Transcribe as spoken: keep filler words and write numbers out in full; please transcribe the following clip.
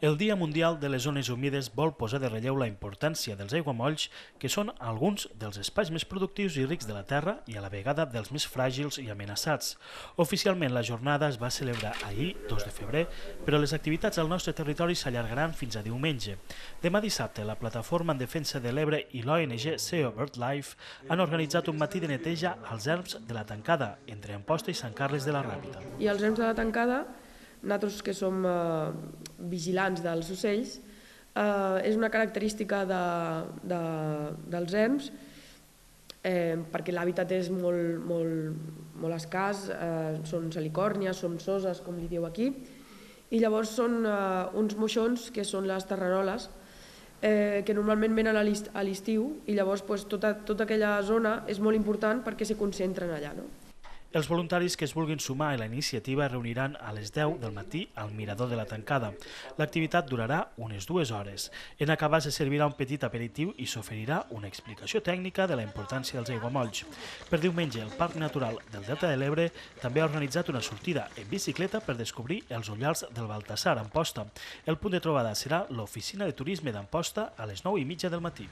El Dia Mundial de les Zones Humides vol posar de relleu la importància dels aiguamolls, que són alguns dels espais més productius i rics de la Terra i a la vegada dels més fràgils i amenaçats. Oficialment la jornada es va celebrar ahir, dos de febrer, però les activitats al nostre territori s'allargaran fins a diumenge. Demà dissabte, la Plataforma en Defensa de l'Ebre i l'O N G Seo BirdLife han organitzat un matí de neteja als erms de la Tancada, entre Amposta i Sant Carles de la Ràpita. I als erms de la Tancada, nosaltres que som eh, vigilants dels ocells, eh, és una característica de, de, dels erms eh, perquè l'hàbitat és molt, molt, molt escàs, eh, són salicòrnies, són soses, com li diu aquí, i llavors són eh, uns moixons que són les terreroles, eh, que normalment venen a l'estiu i llavors pues, tota, tota aquella zona és molt important perquè se concentren allà. No? Els voluntaris que es vulguin sumar a la iniciativa es reuniran a les deu del matí al Mirador de la Tancada. L'activitat durarà unes dues hores. En acabar se servirà un petit aperitiu i s'oferirà una explicació tècnica de la importància dels aiguamolls. Per diumenge, el Parc Natural del Delta de l'Ebre també ha organitzat una sortida en bicicleta per descobrir els ullals del Baltasar, a Amposta. El punt de trobada serà l'oficina de turisme d'Amposta a les nou i mitja del matí.